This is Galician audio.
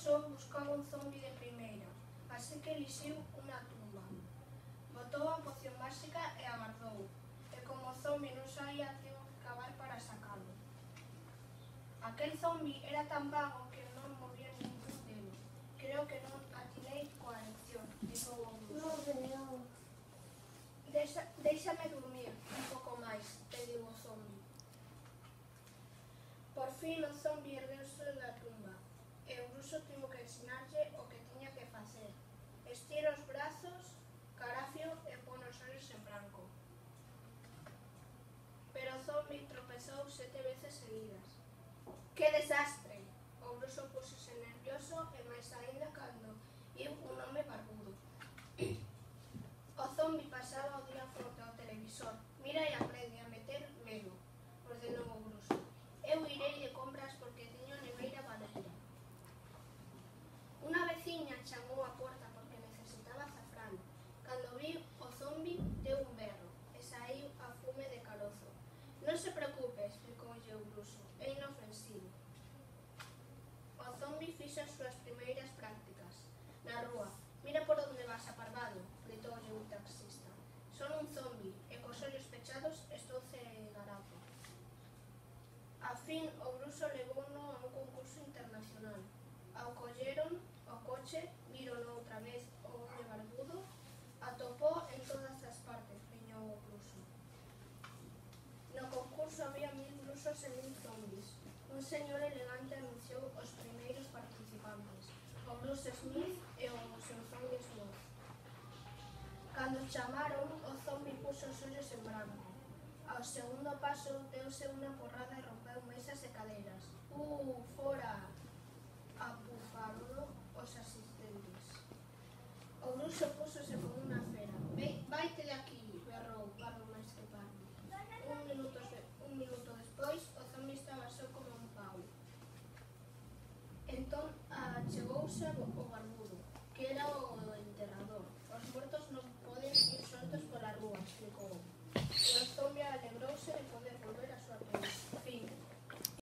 só buscaba un zombi de primeira, así que elixiu unha tumba. Botou a poción máxica e agardou, e como o zombi non saía, tivo que cavar para sacalo. Aquel zombi era tan vago que non movía ningún dedo. Creo que non atinei coa lección, dixo o Bruso. Déixame dormir un pouco máis, pediu o zombi. Por fin o zombi ergueuse da tumba, e o Bruso tivo que ensinarlle o que tiña que facer. Estira os brazos, carafio e pon os ollos en branco. Pero o zombi tropezou 7 veces seguidas. Que desastre! O Bruso púxose nervioso e máis aínda cando viu un home barbudo. O zombi pasaba o día fronte ao televisor. Mira e aprende a meter medo, ordenou o Bruso. Eu irei de compras porque teño a neveira valeira. Unha veciña chamou á porta porque necesitaba azafrán. Cando viu o zombi, deu un berro e saíu a fume de carozo. Non se preocupe, explicoulle o Bruso, é inofensivo. O zombi fixo as súas primeiras prácticas. Na rúa, mira por onde vas, aparvado, gritoulle un taxista. Son un zombi e cos ollos pechados estou cegarazo. A fin, o Bruso levouno a un concurso internacional. Ao colleron o coche, vírono outra vez o home barbudo, atopou en todas as partes, riñou o Bruso. No concurso había 1000 brusos e 1000 zombis. Un señor elegante anunciou os primeiros participantes, o Bruce Smith e o seu zombi Sloth. Cando chamaron, o zombi puxo os ollos en branco. Ao segundo paso, deuse unha porrada e rompeu mesas e cadeiras. Fora! Apufarono os asistentes. O Bruso púxose como unha fera. Vaite de aquí!